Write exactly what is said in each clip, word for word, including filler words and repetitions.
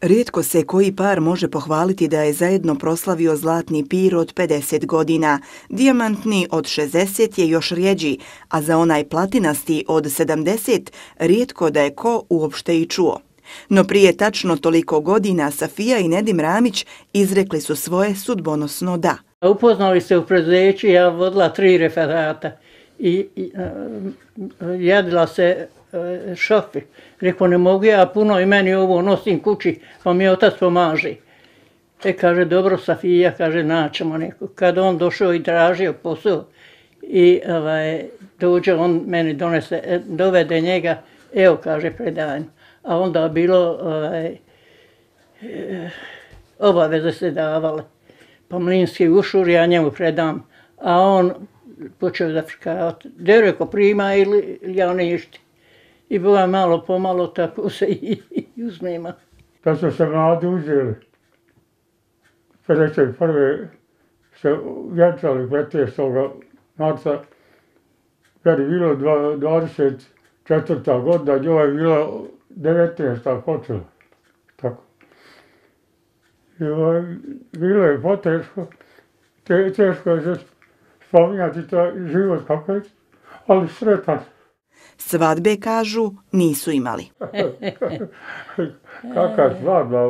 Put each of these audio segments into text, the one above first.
Rijetko se koji par može pohvaliti da je zajedno proslavio zlatni pir od pedeset godina. Dijamantni od šezdeset je još rjeđi, a za onaj platinasti od sedamdeset rijetko da je ko uopšte i čuo. No prije tačno toliko godina Safija i Nedim Ramić izrekli su svoje sudbonosno da. Upoznali se u preduzeću, ja vodila tri referata i, i uh, jedila se uh, šofi. Rekao, ne mogu ja puno i meni ovo nosim kući, pa mi otac pomaže. E, kaže, dobro Safija, kaže, naćemo neko. Kad on došao i tražio posao i ovaj, dođe, on meni donese, dovede njega, evo, kaže, predanju. A onda bilo ovaj, obaveze se davale. Pa mlinski ušur, ja njemu predam, a on počeo da frkavati. Da reko prima ili ja ništa. I bila malo pomalo tako se i, i uzmema. Kad su se mladi uzeli, pedeset prve se vjenčali petnaestog marca, kad je bilo dvadeset četvrta godina, njoj je bilo devetnaesta počela. Tako. I ovaj, bilo je poteško, te, teško je se spominjati taj život kako je, ali sretan. Svadbe, kažu, nisu imali. Kakva svadba,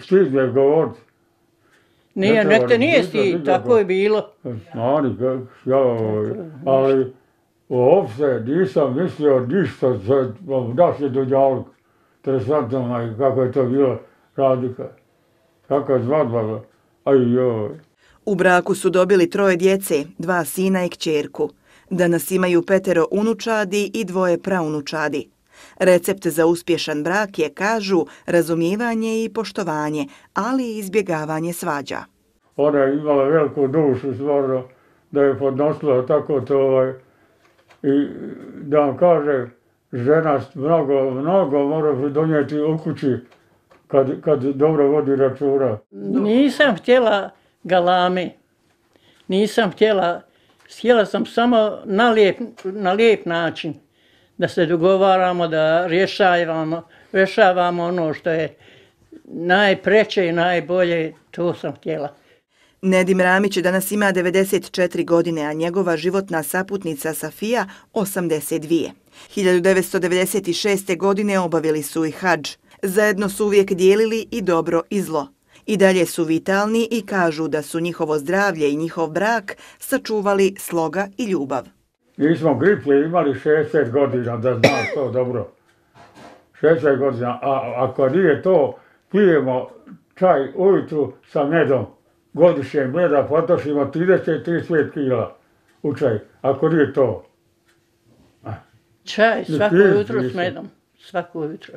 stid me govoriti. Nije, nek te nije stid, tako je bilo. Znani, ja, ali uopšte nisam mislio ništa za naše dođalog. Interesantno kako je to bilo radika. Kakva svadba, aj joj. U braku su dobili troje djece, dva sina i kćerku. Danas imaju petero unučadi i dvoje praunučadi. Recept za uspješan brak je, kažu, razumijevanje i poštovanje, ali i izbjegavanje svađa. Ona je imala veliku dušu, stvarno, da je podnosila tako to, ovaj, i da vam kaže, žena mnogo, mnogo mora donijeti u kući kad, kad dobro vodi računa. Nisam htjela galame, nisam htjela, htjela sam samo na lijep, na lijep način da se dogovaramo, da rješavamo, rješavamo ono što je najpreće i najbolje, to sam htjela. Nedim Ramić danas ima devedeset četiri godine, a njegova životna saputnica Safija osamdeset dvije. hiljadu devetsto devedeset šeste. godine obavili su i hadž. Zajedno su uvijek dijelili i dobro i zlo. I dalje su vitalni i kažu da su njihovo zdravlje i njihov brak sačuvali sloga i ljubav. Mi smo griplje imali šezdeset godina, da znaš to dobro. šezdeset godina, a ako nije to, pijemo čaj ujutru sa medom. Godišnje meda potrošimo trideset do trideset pet kila u čaj, ako nije to. Čaj svako jutro s medom, svako jutro.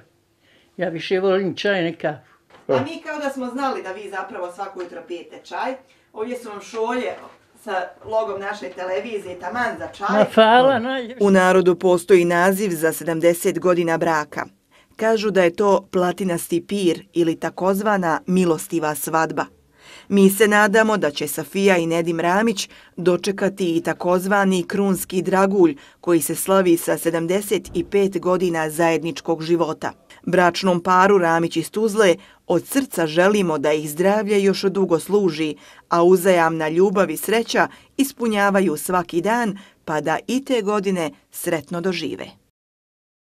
Ja više volim čaj ne kafu. A mi kao da smo znali da vi zapravo svako jutro pijete čaj. Ovdje su vam šolje sa logom naše televizije, taman za čaj. Ma hvala, najljepše. U narodu postoji naziv za sedamdeset godina braka. Kažu da je to platinasti pir ili takozvana milostiva svadba. Mi se nadamo da će Safija i Nedim Ramić dočekati i takozvani krunski dragulj koji se slavi sa sedamdeset pet godina zajedničkog života. Bračnom paru Ramić iz Tuzle od srca želimo da ih zdravlje još dugo služi, a uzajamna ljubav i sreća ispunjavaju svaki dan pa da i te godine sretno dožive.